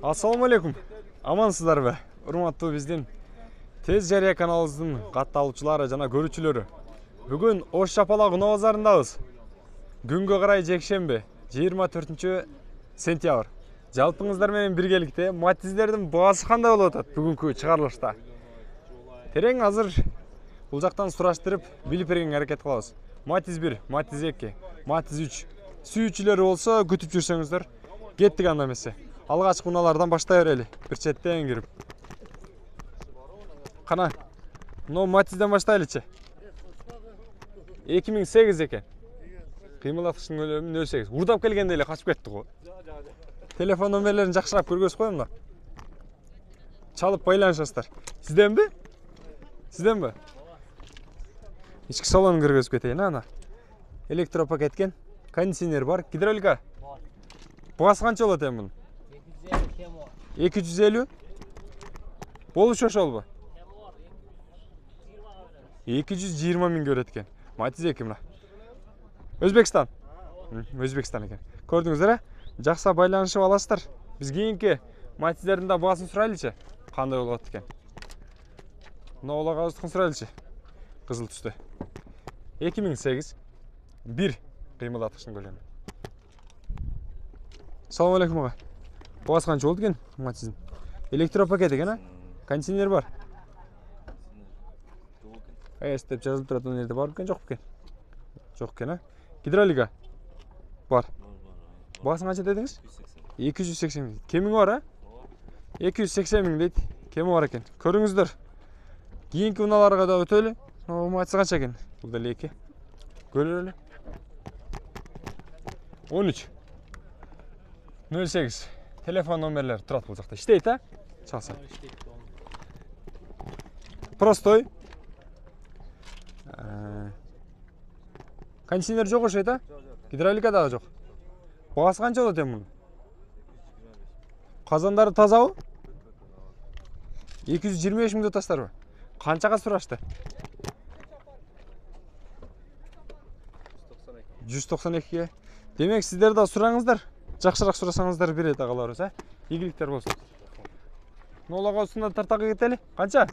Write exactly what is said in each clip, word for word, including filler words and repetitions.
Ассаламу алейкум. Амансыздарбы? Урматтуу биздин Тез Жарыя каналыбыздын катталуучулары жана көрүүчүлөрү. Бүгүн Ош Чапалак Унаа базарындабыз. Күнгө карай жекшемби, жыйырма төртүнчү сентябрь. Жалпыңыздар менен биргеликте матиздердин баасы кандай болуп атат бүгүнкү чыгарылышта? Терең азыр бул жактан сураштырып, билип бергенге аракет кылабыз. Матиз бир, Матиз эки, Матиз үч. Сүйүүчүлөр болсо күтүп жүрсөңүздөр, кеттик анда эмесе. Алгачкы унаалардан баштай берели, бир четтен кирип. Кана, мына Матизден баштайлычы. эки миң сегиз экен. Кыймылдаткычтын көлөмү нөл сегиз. Урдап келгенде эле качып кетти го. Телефон номерлерин жакшыраак көргөзүп коем да. Чалып байланышасыздар. Сизденби? Сизденби? Ички салонун көргөзүп кетейин, ана. Электропакеткен, кондиционер бар, гидравлика. Баасы канча болот эми мунун? эки жүз элүү. Болушу ошолбу? эки жүз жыйырма миң көрөт экен. Матиз эки мына. Өзбекстан. Өзбекстан экен. Көрдүңүздөр, э? Жакса байланышып аласыздар. Биз кийинки матиздердин да баасын сурайлычы. Кандай болот экен? Мына олагабыздыкын сурайлычы. Кызыл түстө. эки миң сегиз. бир кыймылдаткычтын көлөмү. Салам алейкум ага. Баасы канча болду экен матиздин? Электропакет экен, а? Кондиционер бар. Эс деп жазылып турат, ал жерде бар экен, жок экен. Жок экен, а? Гидравлика бар. Баасын канча дедиңиз? эки жүз сексен миң. Кеми бар, а? эки жүз сексен миң дейт. Кеми бар экен. Көрүңүздөр. Кийинки унааларга да өтөлү. О, матиз канча экен? Бул деле эки. Көрөлү. он үч нөл сегиз. Телефон номерлери турат бул жакта. Иштейт, а? Чалса. Простой. Кондиционер жок окшойт, а? Гидравлика дагы жок. Баасы канча болот эми мунун? Казандары тазабы? эки жүз жыйырма беш миң деп атасыздарбы? Канчага сурашты? жүз токсон экиге. Демек сиздер да сураңыздар. Жакшыраак сурасаңыздар берет агаларыбыз, а? Ийгиликтер болсун. Ноолага устунда тартага кетели. Канча?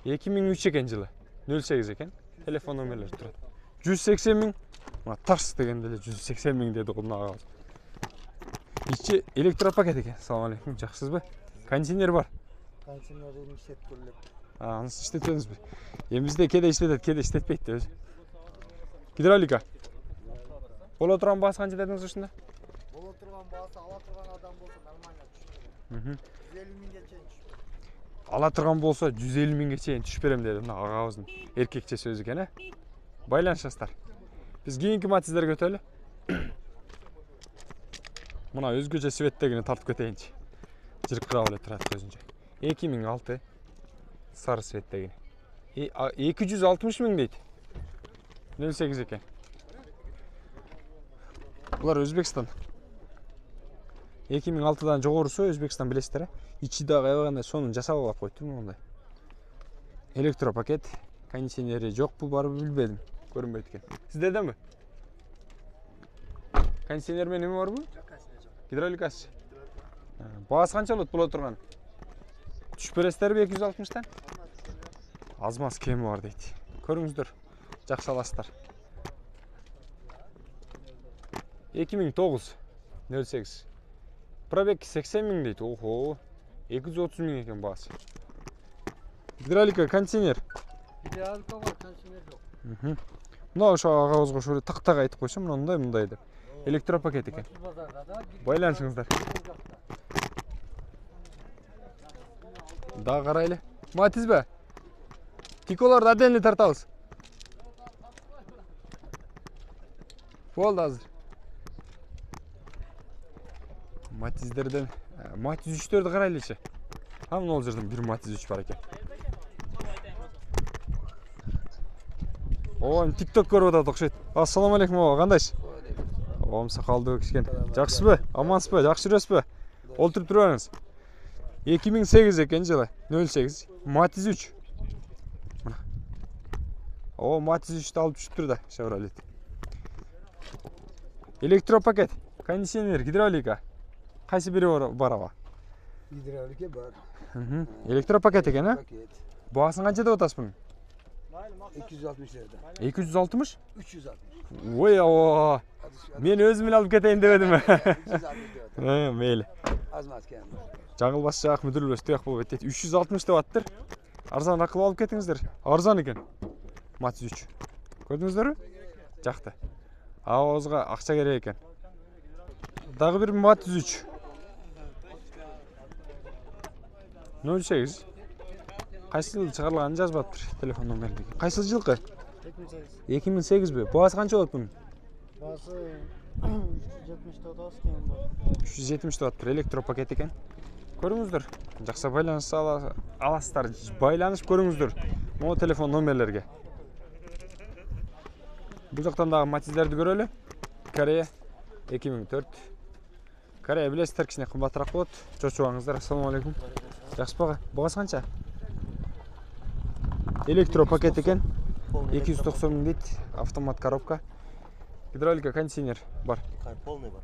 эки миң үч экен жылы. нөл сегиз экен. Телефон номерлери турат. жүз сексен миң. Мына тарс дегенде эле жүз сексен миң деди го мына агабыз. Ичи электропакет экен. Салам алейкум. Жакшысызбы? Кондиционер бар. Кондиционерин иштетип көрүлөт. А, анысы иштетебизби? Эми бизде кеде иштетет, кеде иштетпейт да өзү. Гидравлика. Боло турган баасы канча дедиңиз ушунда? Боло турган баасы ала турган адам болсо нормально түшүп. Мм. жүз элүү миңге чейин түшүп. Ала турган болсо жүз элүү миңге чейин түшүп берем деди мына агабыздын эркекче сөзү экен, э? Байланышасыздар. Биз кийинки матиздерге өтөлү. Мына өзгөчө светтегини тартып кетейинчи. Жыркырап эле турат көзүнчө. эки миң алты сары светтегини. эки жүз алтымыш миң дейт. нөл сегиз экен. Булар Өзбекстан. эки миң алтыдан жогорусу Өзбекстан билесиздер, э? Ичи дагы аябагандай сонун жасап алып койту мондай. Электропакет, кондиционери жокпу, барбы билбедим. Көрүнбөйт экен. Сиздерденби? Кондиционер менен эме барбы? Жок, кондиционер жок. Гидравликасы. Баасы канча болот боло турган? Түшүп бересиздерби эки жүз алтымыштан? Аз маз кеми бар дейт. Көрүңүздөр. Жакшы аласыздар. эки миң тогуз нөл сегиз. Пробег сексен миң дейт. Охо. эки жүз отуз миң экен баасы. Гидравлика, кондиционер. Гидравлика бар, кондиционер жок. Мм. Мына ошо агабызга ошо тактага айтып койсом, мындай мындай деп. Электропакет экен. Байланышыңыздар. Дагы карайлы. Матизби? Тиколорду отдельно тартабыз. Болду азыр. Матиздерден, Матиз үчтөрдү карайлычы. А мына ол жерден бир Матиз үч бар экен. О, TikTok көрүп атат окшойт. Ассаламу алейкум ага, кандайсыз? Оом сакалдуу кишкен. Жакшысызбы? Амансызбы? Жакшы жүрөсүзбү? Олтуруп турбаңыз. эки миң сегиз экен жылы. нөл сегиз. Матиз үч. Мына. О, Матиз үчтү алып түшүптүр да, Chevrolet. Электропакет, кондиционер, гидравлика. Кайсы бири бар аба? Гидравлика бар. Электропакет экен, а? Пакет. Баасын канча деп атасыз мунун? эки жүз алтымыш лирада. эки жүз алтымыш? үч жүз алтымыш. Ой, оо. Мен өзүм эле алып кетейин деп эдим. үч жүз алтымыш деп атат. Э, мейли. Азмат экен. Жаңылбаш жак мүдүрүлбөс тияк болбойт дейт. үч жүз алтымыш деп аттыр. Арзаныраак кылып алып кетиңиздер. Арзан экен. Матиз үч. Көрдүңүздөрбү? Жакты. Абыбызга акча керек экен. Дагы бир Матиз үч. нөл сегиз. Кайсы жылы чыгарылганын жазбаптыр телефон номеринде. Кайсы жылкы? эки миң сегизби? Баасы канча болот мунун? Басы үч жүз жетимиш деп атабыз кем бар. үч жүз жетимиш деп аттыр, электропакет экен. Көрүңүздөр. Жакшы байланыш аласыздар. Байланышып көрүңүздөр. Могу телефон номерлерге. Бул жактан дагы Матиздерди көрөлү. Корея эки миң төрт. Корея билесиздер, кичине кымбатыраак болот. Чочубаңыздар. Ассаламу алейкум. Жакшы бага. Багасы канча? Электропакет экен. эки жүз токсон миң дейт. Автомат коробка. Гидравлика, кондиционер бар. Полный бар.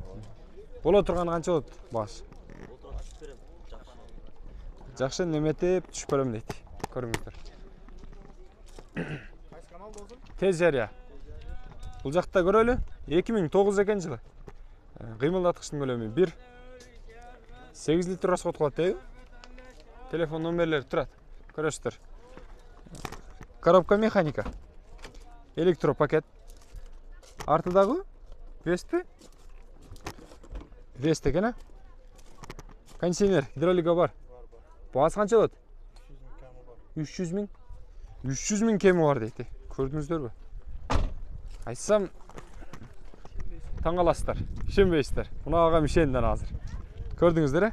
Боло турганы канча болот баасы? Жакшы неметип түшүп берем дейт. Көрүңүздөр. Кайсы канал болсун? Тез жарыя. Бул жакта көрөлү. эки миң тогуз экен жылы. Кыймылдаткычтын көлөмү бир. сегиз литр расход кылат дейби? Телефон номерлери турат. Көрөсүздөр. Коробка механика. Электропакет. Артыдагы Веспи? Вест экен, а? Кондиционер, гидравлика бар. Баасы канча болот? үч жүз миң. үч жүз миң кеми бар дейт. Көрдүңүздөрбү? Айтсам таң каласыздар, ишенбейсиздер. Мына ага ишенден азыр. Көрдүңүздөр, э?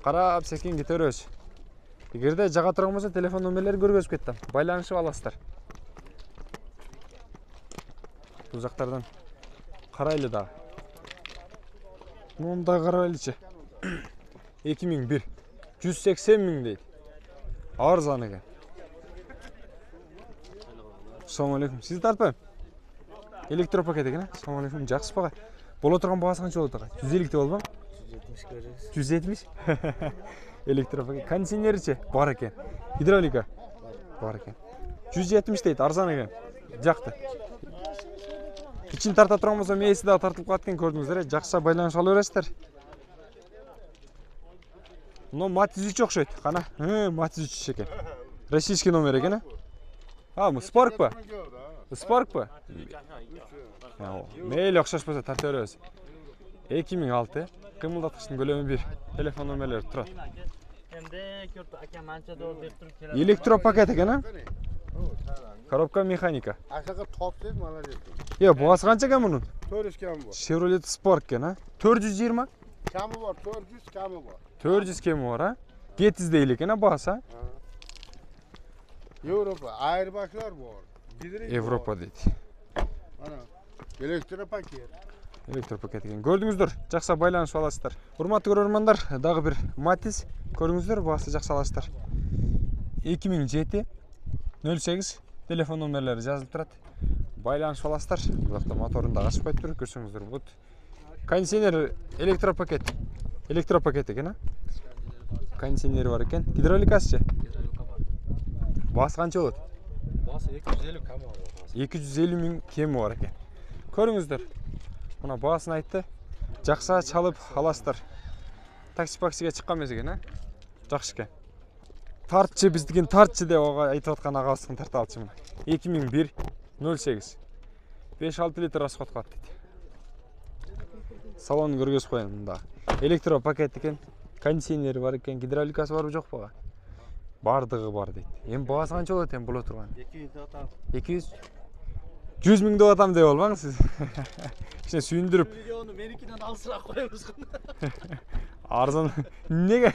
Карап секин кете беребиз. Эгерде жага турган болсо телефон номерлерин көргөзүп кеттим. Байланышып аласыздар. Бул жактардан карайлы дагы. Мында карайлычы. эки миң бир. жүз сексен миң дейт. Арзан экен. Ассаламу алейкум. Сизди тартпайм. Электропакет экен, а? Ассаламу алейкум. Жакшы бага. Боло турган багасы канча болот ага? жүз элүү деп болбойбу? жүз жетимиш көрөбүз. жүз жетимиш? Электропакет. Кондиционерчи бар экен. Гидравлика бар экен. жүз жетимиш дейт, арзан экен. Жакты. Ичин тарта турган болсо мээси дагы тартылып калат экен, көрдүңүздөр, э? Жакшы байланышып ала бересиздер. Но Матиз үч окшойт. Кана, э, Матиз үч экен. Российский номер экен, а? А, бул Spark ба? Spark ба? Мейли окшошпосо тарта беребиз. эки миң алты. Кыймылдаткычтын көлөмү бир. Телефон номерлери турат. Эмде көрдү акам анча доллар деп туруп келет. Электропакет экен, а? Коробка механика. Ашака топ деп молодец. Е, баасы канча экен мунун? төрт жүз кем бар. Chevrolet Spark экен, а? төрт жүз жыйырма? Камы бар, төрт жүз камы бар. төрт жүз кеми бар, а? Гетиз дейли экен, а баасы, а? Европа, айырбашлар бар. Европа дейт. Ана, электропакет. Электропакет экен. Көрдүңүздөр, жакшы байланышып аласыздар. Урматтуу көрөрмандар, дагы бир Матиз. Көрүңүздөр, баасы жакшы аласыздар. эки миң жети нөл сегиз телефон номерлери жазылып турат. Байланышып аласыздар. Бул жакта моторун да ачпай тур, көрсөңүздөр болот. Кондиционер электропакет. Электропакет экен, а? Кондиционери бар экен. Гидравликасычы? Гидравлика бар. Баасы канча болот? Баасы эки жүз элүү кам бар. эки жүз элүү миң кеми бар экен. Көрүңүздөр. Мына баасын айтты. Жакшы чалып аласыздар. Такси-паксиге чыккан эмес экен, а? Жакшы экен. Тартчы биздикин тартчы деп ага айтып аткан агабыздын тарта алчы мына. эки миң бир нөл сегиз. беш алты литр расход кылат дейт. Салонун көргөзүп коеюн мында. Электропакет экен, кондиционери бар экен, гидравликасы барбы жокпу ага? Бардыгы бар дейт. Эми баасы канча болот эми боло турган? эки жүз деп атам. эки жүз. жүз миң деп атам деп болбаңыз сиз. Кичине сүйүндүрүп. Видеону меникинен алысыраак коебуз. Арзан. Неге?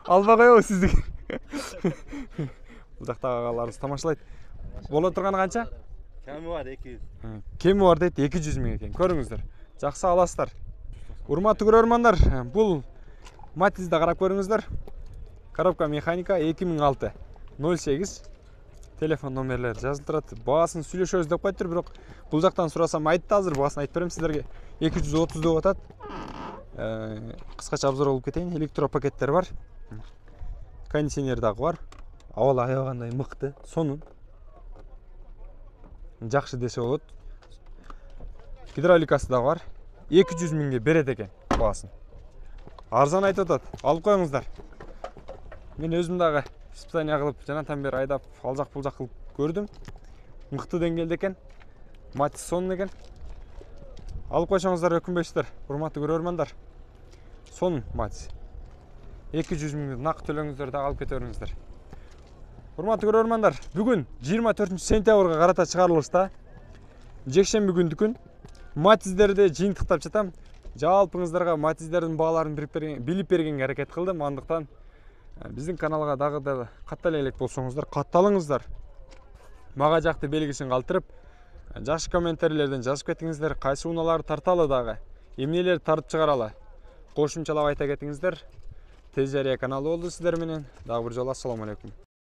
Албай коебуз сизди. Бул жактагы агаларыбыз тамашалайт. Боло турганы канча? Кеми бар эки жүз. Кеми бар дейт, эки жүз миң экен. Көрүңүздөр. Жакшы аласыздар. Урматтуу көрөрмандар, бул Матизди карап көрүңүздөр. Коробка механика эки миң алты нөл сегиз. Телефон номерлери жазылып турат. Баасын сүйлөшөбүз деп коюптур, бирок бул жактан сурасам айтты азыр, баасын айтып берем сиздерге. эки жүз отуз деп атат. кыскача обзор кылып кетейин. Электропакеттер бар. Кондиционер дагы бар. Абал аябагандай мыкты, сонун. Жакшы десе болот. Гидравликасы дагы бар. эки жүз миңге берет экен баасын. Арзан айтып атат. Алып коюңуздар. Мен өзүм дагы испытание кылып, жанатан бери айдап, алжак булжак кылып көрдүм. Мыкты деңгээлде экен. Матис сонун экен. Алып койсоңуздар өкүнбөйсүздөр, урматтуу көрөрмандар. Сонун Матис. эки жүз миң нак төлөңүздөр да алып кете бериңиздер. Урматтуу көрөрмандар, бүгүн жыйырма төртүнчү сентябрга карата чыгарылышта. Жекшемби күндүкүн Матиздерди жыйынтыктап жатам. Жалпыңыздарга Матиздердин бааларын билип бергенге аракет кылдым. Андыктан биздин каналга дагы да каттала элек болсоңуздар, катталыңыздар. Мага жакты белгисин калтырып, жакшы комментарийлерден жазып кетиңиздер. Кайсы унааларды тарталы дагы, эмнелерди тартып чыгаралы. Кошумчалап айта кетиңиздер. Тез жарыя каналы болду сиздер менен. Дагы бир жолу ассаламу алейкум.